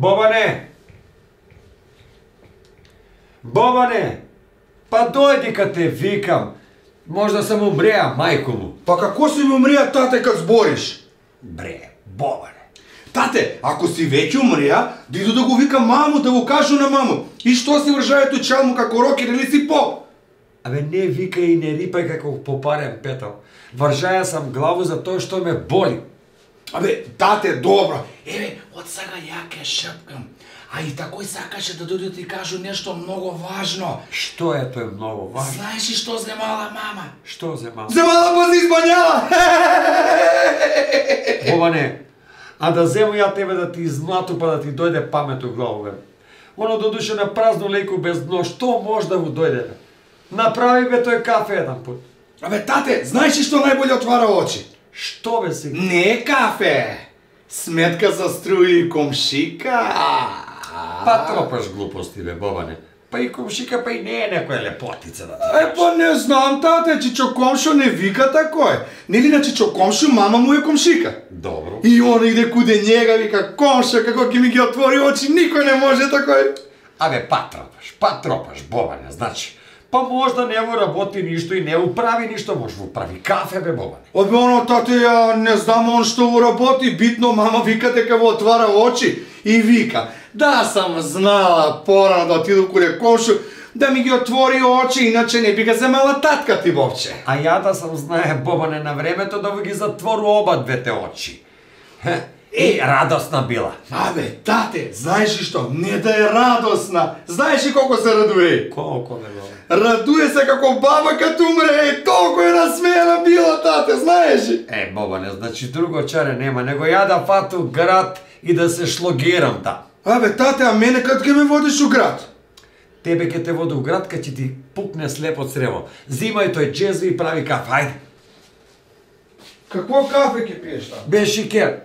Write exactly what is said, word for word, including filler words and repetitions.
Бобане! Бобане! Па дојди кад те викам. Можда сам умреа, мајко му. Па како си ми умреа, тате, кад збориш? Бре, Бобане. Тате, ако си веќе умреа, да иду да го викам маму, да го кажу на маму. И што си вржаето чалму како рокер или си поп? Абе, не викај и не рипај како попарен петал. Вржаја сам главу за тоа што ме боли. Абе, тате, добро. Еве, од сега ја ке шепкам. А и такој сакаше да дојде да ти кажу нешто многу важно. Што е тоа многу важно? Знаеш ли што земала мама? Што земала? Земала па се избањала! Бобане, а да зему ја тебе да ти измлату па да ти дојде памет у главу, бе. Оно додуше на празно лејко без дно, што може да му дојде, бе? Направи бе тој кафе еден пут. Абе, тате, знаеш ли што најболje отвара очи? Што бе си? Не кафе! Сметка за струи и комшика! Па тропаш глупости, бе, Бобане. Па и комшика, па и не е некоја лепотица да ти Е, па не знам, тате, Чичо комшо не вика такој. Нели на Чичо комшо мама му е комшика? Добро. И он иде куде njega, вика комшо, како ќе ми ги отвори очи, никој не може такој. Абе, па тропаш, па тропаш, Бобане, значи. Па можда не му работи ништо и не управи ништо, може му прави кафе, бе, Бобане. Обе, оно, тате, ја не знам он што му работи, битно мама вика дека му отвара очи и вика, да сам знала порано да отиду куде комшо, да ми ги отвори очи, иначе не би га земала татка ти, бобче. А ја да сам знае, Бобане, на времето да ви ги затвору оба двете очи. И радосна била. Абе, тате, знаеш ли што? Не да е радосна. Знаеш ли колко се радуе? Колко не била? Радуе се како баба като умре, и толку е насмеена била, тате, знаеш ли? Е, Бобане, значи друго чаре нема, него ја да фату град и да се шлогирам там. Абе, тате, а мене кад ќе ме водиш у град? Тебе ке те води у град, кад ќе ти пукне слепо црево. Зимај тој джезви и прави кафе, ајде. Какво кафе ќе пиеш там? Бе шикер.